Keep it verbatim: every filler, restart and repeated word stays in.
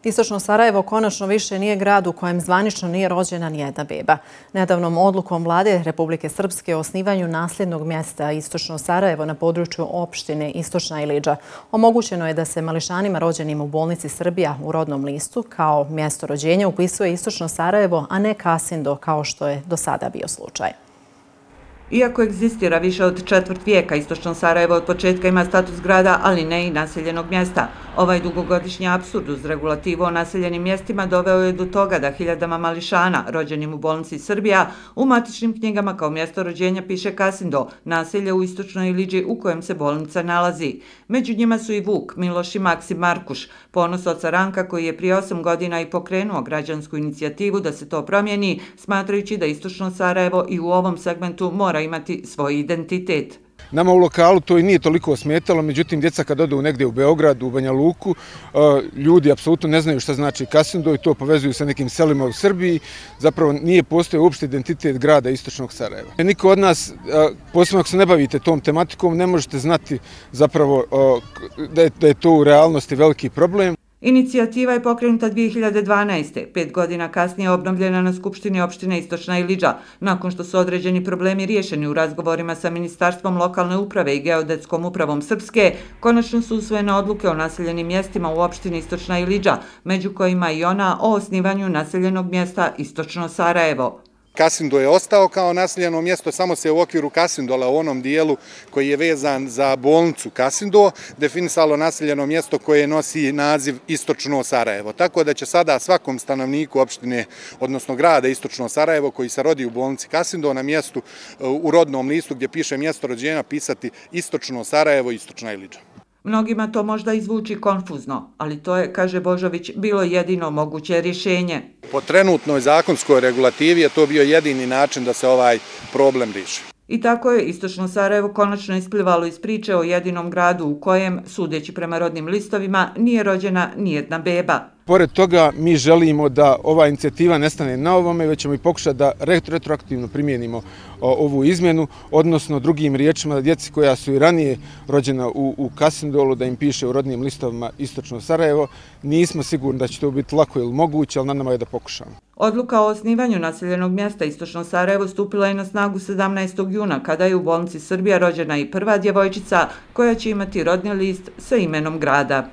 Istočno Sarajevo konačno više nije grad u kojem zvanično nije rođena nijedna beba. Nedavnom odlukom Vlade Republike Srpske o osnivanju nasljednog mjesta Istočno Sarajevo na području opštine Istočna Ilidža omogućeno je da se mališanima rođenim u bolnici Srbija u rodnom listu kao mjesto rođenja upisuje Istočno Sarajevo, a ne Kasindo kao što je do sada bio slučaj. Iako egzistira više od četvrt vijeka, Istočno Sarajevo od početka ima status grada, ali ne i naseljenog mjesta. Ovaj dugogodišnji apsurd uz regulativu o naseljenim mjestima doveo je do toga da hiljadama mališana, rođenim u bolnici Srbija, u matičnim knjigama kao mjesto rođenja piše Kasindo, naselje u Istočnoj Ilidži u kojem se bolnica nalazi. Među njima su i Vuk, Miloš i Maksim Markuš, ponos oca Ranka koji je prije osam godina i pokrenuo građansku inicijativu da se to promijeni, smatrajući da Istočno Sarajevo i u ovom segmentu mora imati svoj identitet. Nama u lokalu to i nije toliko smetalo, međutim, djeca kad odu negdje u Beograd, u Banja Luku, ljudi apsolutno ne znaju šta znači Kasindo i to povezuju sa nekim selima u Srbiji. Zapravo nije postojao uopšte identitet grada Istočnog Sarajeva. Niko od nas, posebno ako se ne bavite tom tematikom, ne možete znati zapravo da je to u realnosti veliki problem. Inicijativa je pokrenuta dvije hiljade dvanaeste. Pet godina kasnije obnovljena na Skupštini opštine Istočna Ilidža. Nakon što su određeni problemi riješeni u razgovorima sa Ministarstvom lokalne uprave i Geodetskom upravom Srpske, konačno su usvojene odluke o naseljenim mjestima u opštini Istočna Ilidža, među kojima i ona o osnivanju naseljenog mjesta Istočno Sarajevo. Kasindo je ostao kao naseljeno mjesto, samo se u okviru Kasindola, u onom dijelu koji je vezan za bolnicu Kasindo, definisalo naseljeno mjesto koje nosi naziv Istočno Sarajevo. Tako da će sada svakom stanovniku opštine, odnosno grada Istočno Sarajevo, koji se rodi u bolnici Kasindo, na mjestu u rodnom listu gdje piše mjesto rođenja pisati Istočno Sarajevo, Istočna Ilidža. Mnogima to možda izvuči konfuzno, ali to je, kaže Božović, bilo jedino moguće rješenje. Po trenutnoj zakonskoj regulativi je to bio jedini način da se ovaj problem riješi. I tako je Istočno Sarajevo konačno isplivalo iz priče o jedinom gradu u kojem, sudeći prema rodnim listovima, nije rođena nijedna beba. Pored toga, mi želimo da ova inicijativa ne stane na ovome, već ćemo i pokušati da retroaktivno primijenimo ovu izmjenu, odnosno drugim riječima da djeci koja su i ranije rođena u, u Kasindolu, da im piše u rodnim listovima Istočno Sarajevo. Nismo sigurni da će to biti lako ili moguće, ali na nama je da pokušamo. Odluka o osnivanju naseljenog mjesta Istočno Sarajevo stupila je na snagu sedamnaestog juna, kada je u bolnici Srbija rođena i prva djevojčica koja će imati rodni list sa imenom grada.